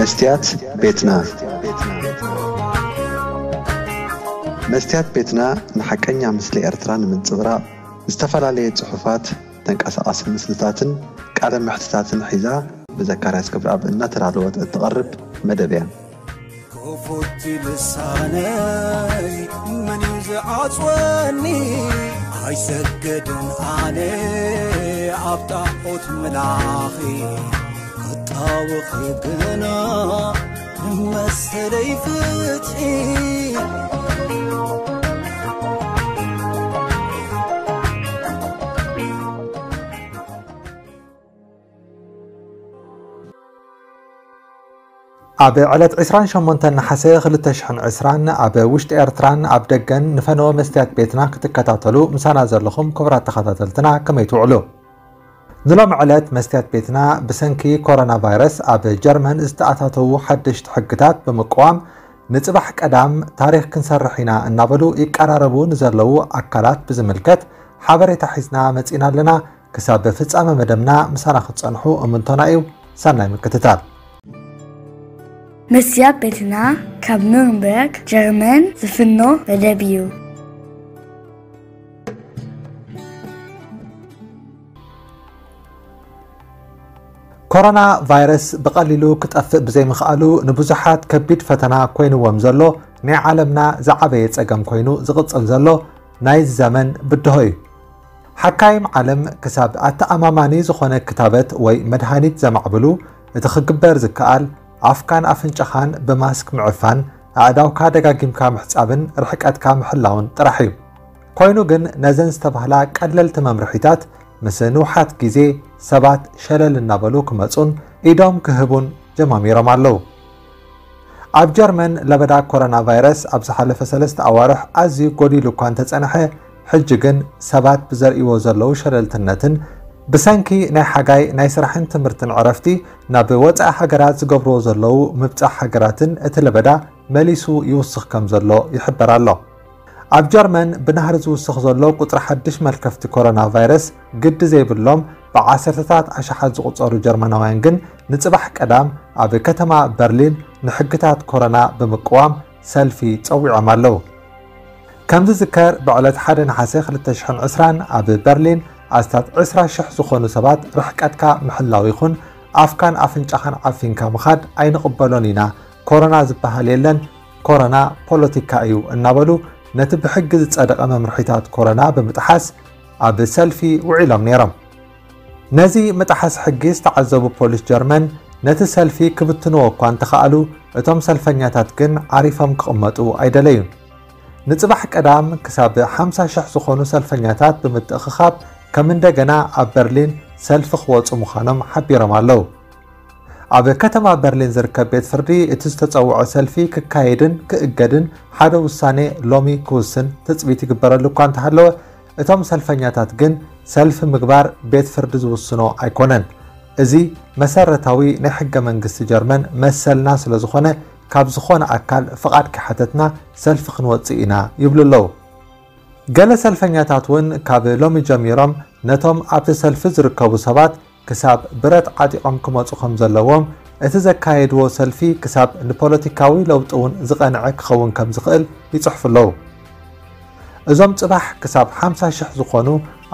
መስትያት ቤትና። መስትያት ቤትና ንሓቀኛ ምስሊ ኤርትራ ንምንጽብራቕ ዝተፈላለየ ጽሑፋት፣ ተንቀሳቓሲ ምስልታትን ቃለ መሕትታትን ሒዛ ብዘካርያስ ክብረኣብ እናተዳለወት እትቐርብ መደብ እያ። ክፉት ልሳነይ መን እዩ ዝዓጽወኒ? ኣይሰግድን ኣነ ኣብ ጣዖት ምላኺ፣ ክጣወኺ ግና ንመሰለይ ፍትሒ። ኣብ ዕለት ዕስራን ሸሞንተን ነሓሰ ክልተ ሽሕን ዕስራን ኣብ ውሽጢ ኤርትራን ኣብ ደገን ንፈነወ መስትያት ቤትና ክትከታተሉ ምሳና ዘለኹም ክቡራት ተኸታተልትና ከመይ ትውዕሉ? ንሎሚ ዕለት መስትያት ቤትና ብሰንኪ ኮሮና ቫይረስ ኣብ ጀርመን ዝተኣታተዉ ሓደሽቲ ሕግታት ብምቅዋም ንጽባሕ ቀዳም ታሪኽ ክንሰርሕ ኢና እናበሉ ይቀራረቡ ንዘለዉ ኣካላት ብዝምልከት ሓበሬታ ሒዝና መጺና ኣለና። ክሳብ ፍጻመ መደብና ምሳና ክትጸንሑ እምንቶና እዩ። ሰናይ ምክትታል። መስትያት ቤትና ካብ ኑርንበርግ ጀርመን ዝፍኖ መደብ እዩ። ኮሮና ቫይረስ ብቐሊሉ ክጠፍእ ብዘይምኽኣሉ ንብዙሓት ከቢድ ፈተና ኮይንዎም ዘሎ ናይ ዓለምና ዝዓበየ ጸገም ኮይኑ ዝቕጽል ዘሎ ናይ ዘመን ብድሆ እዩ። ሓካይም ዓለም ክሳብ ኣተኣማማኒ ዝኾነ ክታበት ወይ መድሃኒት ዘማዕብሉ፣ እቲ ክግበር ዝከኣል ኣፍካን ኣፍንጫኻን ብማስክ ምዕፋን፣ ኣእዳውካ ደጋጊምካ ምሕጻብን ርሕቀትካ ምሕላውን ጥራሕ እዩ። ኮይኑ ግን ነዘን ዝተባህላ ቀለልቲ መምርሒታት ምስ ንውሓት ግዜ ሰባት ሸለል እናበሉ ክመጹን ኢዶም ክህቡን ጀማሚሮም ኣለዉ። ኣብ ጀርመን ለበዳ ኮሮና ቫይረስ ኣብ ዝሓለፈ ሰለስተ ኣዋርሕ ኣዝዩ ጎዲሉ እኳ እንተጸንሐ፣ ሕጂ ግን ሰባት ብዘርእይዎ ዘለዉ ሸለልትነትን ብሰንኪ ናይ ሓጋይ ናይ ስራሕን ትምህርትን ዕረፍቲ ናብ ወጻኢ ሃገራት ዝገብርዎ ዘለዉ ምብጻሕ ሃገራትን እቲ ለበዳ መሊሱ ይውስኽ ከም ዘሎ ይሕበር ኣሎ። ኣብ ጀርመን ብናህሪ ዝውስኽ ዘሎ ቁጽሪ ሓድሽ መልከፍቲ ኮሮና ቫይረስ ግዲ ዘይብሎም ብዓሰርተታት ኣሽሓት ዝቑጸሩ ጀርመናውያን ግን ንጽባሕ ቀዳም ኣብ ከተማ በርሊን ንሕግታት ኮሮና ብምቅዋም ሰልፊ ጸዊዖም ኣለዉ። ከም ዝዝከር ብዕለት ሓደ ነሓሰ ክልተ ሽሕን ዕስራን ኣብ በርሊን ኣስታት ዕስራ ሽሕ ዝኾኑ ሰባት ርሕቀትካ ምሕላው ይኹን ኣፍካን ኣፍንጫኻን ዓፊንካ ምኻድ ኣይንቕበሎን ኢና፣ ኮሮና ዝበሃል የለን፣ ኮሮና ፖለቲካ እዩ እናበሉ ነቲ ብሕጊ ዝጸደቐ መምርሒታት ኮሮና ብምጥሓስ ኣብ ሰልፊ ውዒሎም ነይሮም። ነዚ ምጥሓስ ሕጊ ዝተዓዘቡ ፖሊስ ጀርመን ነቲ ሰልፊ ክብትንዎ እኳ እንተኸኣሉ፣ እቶም ሰልፈኛታት ግን ዓሪፎም ክቕመጡ ኣይደለዩን። ንጽባሕ ቀዳም ክሳብ ሓምሳ ሽሕ ዝኾኑ ሰልፈኛታት ብምትእኽኻብ ከም እንደገና ኣብ በርሊን ሰልፊ ክወጹ ምዃኖም ሓቢሮም ኣለዉ። ኣብ ከተማ በርሊን ዝርከብ ቤት ፍርዲ እቲ ዝተጸውዖ ሰልፊ ክካየድን ክእገድን ሓደ ውሳኔ ሎሚ ክውስን ትጽቢት ይግበረሉ እኳ እንተሃለወ፣ እቶም ሰልፈኛታት ግን ሰልፊ ምግባር ቤት ፍርዲ ዝውስኖ ኣይኮነን። እዚ መሰረታዊ ናይ ሕገ መንግስቲ ጀርመን መሰልና ስለ ዝኾነ፣ ካብ ዝኾነ ኣካል ፍቓድ ከይሓተትና ሰልፊ ክንወጽእ ኢና ይብሉ ኣለዉ። ገለ ሰልፈኛታት እውን ካብ ሎሚ ጀሚሮም ነቶም ኣብቲ ሰልፊ ዝርከቡ ሰባት ክሳብ ብረት ዓጢቖም ክመጹ ከም ዘለዎም፣ እቲ ዘካየድዎ ሰልፊ ክሳብ ንፖለቲካዊ ለውጢ እውን ዝቐንዐ ክኸውን ከም ዝኽእል ይጽሕፉ ኣለዉ። እዞም ጽባሕ ክሳብ ሓምሳ ሽሕ ዝኾኑ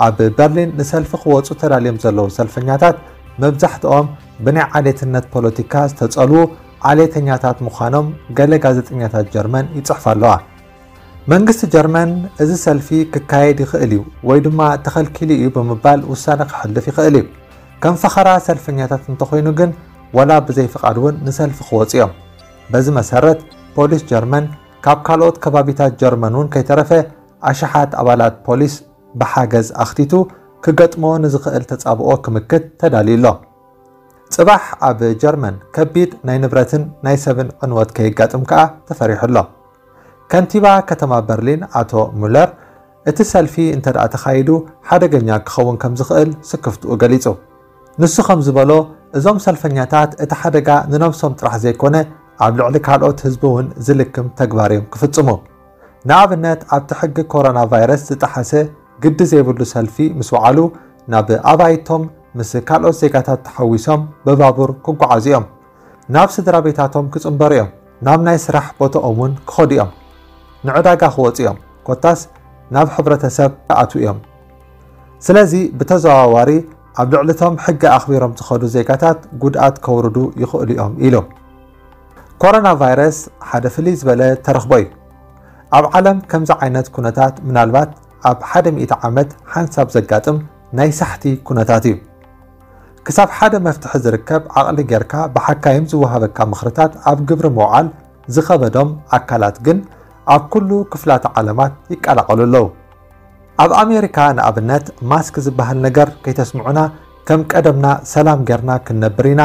ኣብ በርሊን ንሰልፊ ክወጹ ተዳልዮም ዘለዉ ሰልፈኛታት መብዛሕትኦም ብናይ ዓሌትነት ፖለቲካ ዝተጸልዉ ዓሌተኛታት ምዃኖም ገለ ጋዜጠኛታት ጀርመን ይጽሕፋ ኣለዋ። መንግስቲ ጀርመን እዚ ሰልፊ ክካየድ ይኽእል እዩ ወይ ድማ ተኸልኪሉ እዩ ብምባል ውሳነ ክሕልፍ ይኽእል እዩ። ከም ፈኸራ ሰልፈኛታት እንተኾይኑ ግን ወላ ብዘይ ፍቓድ እውን ንሰልፊ ክወጹ እዮም። በዚ መሰረት ፖሊስ ጀርመን ካብ ካልኦት ከባቢታት ጀርመን እውን ከይተረፈ ኣሽሓት ኣባላት ፖሊስ ብሓገዝ ኣኽቲቱ ክገጥሞ ንዝኽእል ተጻብኦ ክምክት ተዳልዩ ኣሎ። ጽባሕ ኣብ ጀርመን ከቢድ ናይ ንብረትን ናይ ሰብን ዕንወት ከየጋጥም ከኣ ተፈሪሑ ኣሎ። ከንቲባ ከተማ በርሊን ኣቶ ሙለር እቲ ሰልፊ እንተ ደኣ ተኻይዱ ሓደገኛ ክኸውን ከም ዝኽእል ስክፍትኡ ገሊጹ። ንሱ ከም ዝበሎ፣ እዞም ሰልፈኛታት እቲ ሓደጋ ንነብሶም ጥራሕ ዘይኮነ ኣብ ልዕሊ ካልኦት ህዝቢ እውን ዝልክም ተግባር እዮም ክፍጽሙ። ንኣብነት ኣብቲ ሕጊ ኮሮና ቫይረስ ዝጠሓሰ ግዲ ዘይብሉ ሰልፊ ምስ ወዓሉ ናብ ኣባይቶም ምስ ካልኦት ዜጋታት ተሓዊሶም ብባቡር ክጓዓዙ እዮም። ናብ ስድራ ቤታቶም ክጽንበሩ እዮም። ናብ ናይ ስራሕ ቦታኦም እውን ክኸዱ እዮም። ንዕዳጋ ክወጹ እዮም። ኮታስ ናብ ሕብረተሰብ ክኣትዉ እዮም። ስለዚ ብተዘዋዋሪ ኣብ ልዕሊቶም ሕጊ ኣኽቢሮም ዝኸዱ ዜጋታት ጉድኣት ከውርዱ ይኽእሉ እዮም ኢሉ። ኮሮና ቫይረስ ሓደ ፍልይ ዝበለ ተረኽቦ እዩ። ኣብ ዓለም ከምዚ ዓይነት ኩነታት ምናልባት ኣብ ሓደ ሚእቲ ዓመት ሓንሳብ ዘጋጥም ናይ ሳሕቲ ኩነታት እዩ። ክሳብ ሓደ መፍትሒ ዝርከብ ዓቕሊ ጌርካ ብሓካይም ዝወሃበካ ምኽርታት ኣብ ግብሪ ምውዓል ዝኸበዶም ኣካላት ግን ኣብ ኩሉ ክፍላተ ዓለማት ይቀላቐሉ ኣለዉ። ኣብ ኣሜሪካ ንኣብነት ማስክ ዝበሃል ነገር ከይተስምዑና ከም ቀደምና ሰላም ጌርና ክንነብር ኢና፣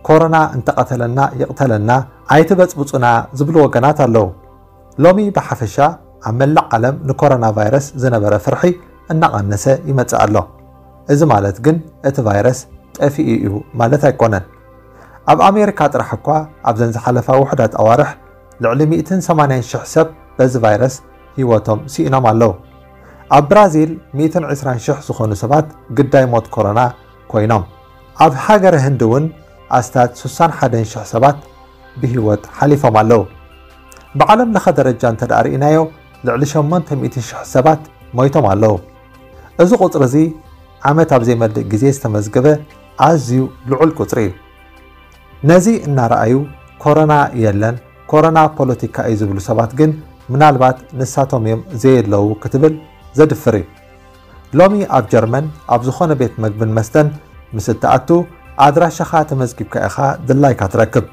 ኮሮና እንተቐተለና ይቕተለና ኣይትበጽብጹና ዝብሉ ወገናት ኣለዉ። ሎሚ ብሓፈሻ ኣብ መላእ ዓለም ንኮሮና ቫይረስ ዝነበረ ፍርሒ እናቐነሰ ይመጽእ ኣሎ። እዚ ማለት ግን እቲ ቫይረስ ጠፊኡ እዩ ማለት ኣይኮነን። ኣብ ኣሜሪካ ጥራሕ እኳ ኣብዘን ዝሓለፋ ውሑዳት ኣዋርሕ ልዕሊ ሚእትን ሰማንያን ሽሕ ሰብ በዚ ቫይረስ ህይወቶም ስኢኖም ኣለዉ። ኣብ ብራዚል ሚእትን ዕስራን ሽሕ ዝኾኑ ሰባት ግዳይ ሞት ኮሮና ኮይኖም። ኣብ ሃገረ ህንዲ እውን ኣስታት ሱሳን ሓደን ሽሕ ሰባት ብህይወት ሓሊፎም ኣለዉ። ብዓለም ለኸ ደረጃ እንተ ደኣ ርኢናዮ ልዕሊ ሸሞንተ ሚእቲ ሽሕ ሰባት ሞይቶም ኣለዉ። እዚ ቁጽሪ እዚ ዓመት ኣብ ዘይመልእ ግዜ ዝተመዝገበ ኣዝዩ ልዑል ቁጽሪ እዩ። ነዚ እናረኣዩ ኮሮና የለን፣ ኮሮና ፖለቲካ እዩ ዝብሉ ሰባት ግን ምናልባት ንሳቶም እዮም ዘየለዉ ክትብል ዘድፍር እዩ። ሎሚ ኣብ ጀርመን ኣብ ዝኾነ ቤት መግብን መስተን ምስ እትኣቱ ኣድራሻኻ ተመዝጊብካ ኢኻ ድላይካ ትረክብ።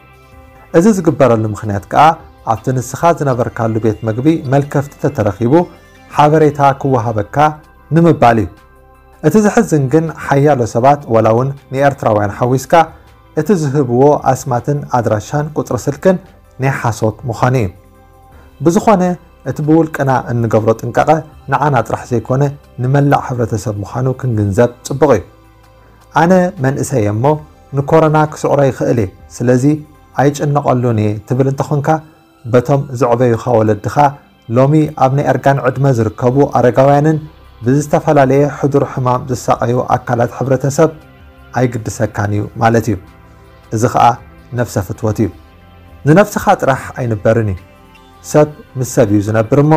እዚ ዝግበረሉ ምኽንያት ከኣ ኣብቲ ንስኻ ዝነበርካሉ ቤት መግቢ መልከፍቲ ተተረኺቡ ሓበሬታ ክወሃበካ ንምባል እዩ። እቲ ዝሕዝን ግን ሓያሎ ሰባት ወላ እውን ንኤርትራውያን ሓዊስካ እቲ ዝህብዎ ኣስማትን ኣድራሻን ቁጽሪ ስልክን ናይ ሓሶት ምዃኑ እዩ። ብዝኾነ እቲ ብውልቅና እንገብሮ ጥንቃቐ ንዓና ጥራሕ ዘይኮነ ንመላእ ሕብረተሰብ ምዃኑ ክንግንዘብ ጽቡቕ እዩ። ኣነ መንእሰይ እየ እሞ ንኮሮና ክስዕሮ ይኽእል እየ፣ ስለዚ ኣይጭነቐሉን እየ ትብል እንተኾንካ በቶም ዘዕበዩኻ ወለድኻ ሎሚ ኣብ ናይ እርጋን ዕድመ ዝርከቡ ኣረጋውያንን ብዝተፈላለየ ሕዱር ሕማም ዝሳቐዩ ኣካላት ሕብረተሰብ ኣይግድሰካን እዩ ማለት እዩ። እዚ ኸኣ ነፍሰ ፍትወት እዩ። ንነፍስኻ ጥራሕ ኣይንበርን እዩ። ሰብ ምስ ሰብ እዩ ዝነብር እሞ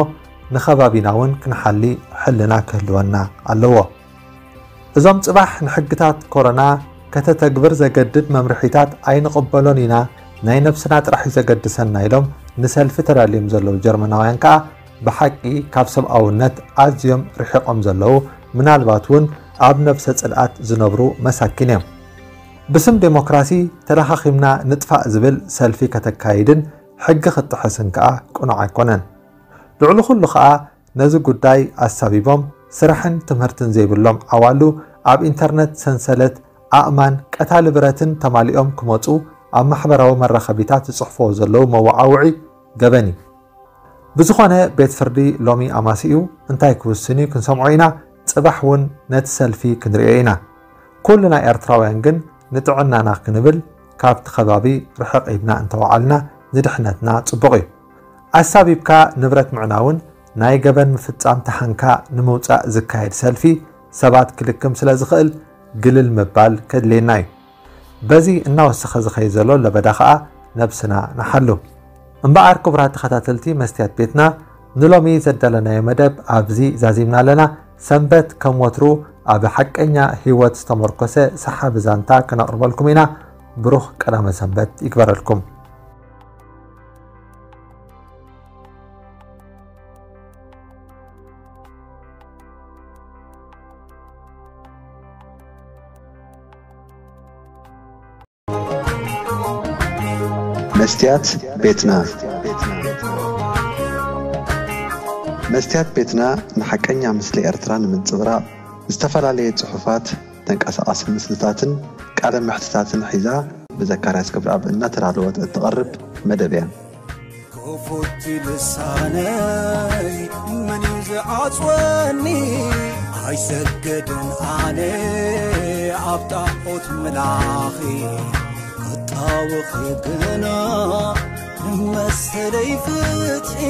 ንኸባቢና እውን ክንሓሊ ሕልና ክህልወና ኣለዎ። እዞም ጽባሕ ንሕግታት ኮሮና ከተተግብር ዘገድድ መምርሒታት ኣይንቕበሎን ኢና፣ ናይ ነብስና ጥራሕ እዩ ዘገድሰና ኢሎም ንሰልፊ ተዳልዮም ዘለዉ ጀርመናውያን ከኣ ብሓቂ ካብ ሰብኣውነት ኣዝዮም ርሒቖም ዘለዉ፣ ምናልባት እውን ኣብ ነብሰ ጽልኣት ዝነብሩ መሳኪን እዮም። ብስም ዴሞክራሲ ተለኻኺምና ንጥፋእ ዝብል ሰልፊ ከተካይድን ሕጊ ክትጥሕስን ከኣ ቅኑዕ ኣይኮነን። ልዕሊ ኩሉ ከኣ ነዚ ጉዳይ ኣሳቢቦም ስራሕን ትምህርትን ዘይብሎም ዓዋሉ ኣብ ኢንተርነት ሰንሰለት ኣእማን ቀታሊ ብረትን ተማሊኦም ክመጹ ኣብ ማሕበራዊ መራኸቢታት ዝጽሕፍዎ ዘለዉ መወዓውዒ ገበን እዩ። ብዝኾነ ቤት ፍርዲ ሎሚ ኣማሲኡ እንታይ ክውስን እዩ ክንሰምዖ ኢና። ጽባሕ እውን ነቲ ሰልፊ ክንርእዮ ኢና። ኩልና ኤርትራውያን ግን ንጥዕናና ክንብል ካብቲ ከባቢ ርሕቕ ኢልና እንተወዓልና ንድሕነትና ጽቡቕ እዩ። ኣሳቢብካ ንብረት ምዕናውን ናይ ገበን ምፍጻም ተሓንካ ንምውጻእ ዝካየድ ሰልፊ ሰባት ክልክም ስለ ዝኽእል ግልል ምባል ከድልየና እዩ። በዚ እናወሰኸ ዝኸይድ ዘሎ ለበዳ ኸኣ ነብስና ንሓሉ። እምበኣር ክቡራት ተኸታተልቲ መስትያት ቤትና ንሎሚ ዘዳለናዮ መደብ ኣብዚ ዛዚምና ኣለና። ሰንበት ከም ወትሩ ኣብ ሓቀኛ ህይወት ዝተመርኮሰ ሰሓቢ ዛንታ ክነቕርበልኩም ኢና። ብሩኽ ቀዳመ ሰንበት ይግበረልኩም። መስትያት ቤትና። መስትያት ቤትና ንሓቀኛ ምስሊ ኤርትራ ንምንጽብራቕ ዝተፈላለየ ጽሑፋት፣ ተንቀሳቓሲ ምስልታትን ቃለ መሕትታትን ሒዛ ብዘካርያስ ገብረኣብ እናተዳለወት እትቐርብ መደብ እያ። ክፉት ልሳነይ መን እዩ ዝዓጽወኒ? ኣይሰግድን ኣነ ኣብ ጣዖት ምላኺ። ክጣወኺ ግና ንመሰለይ ፍትሒ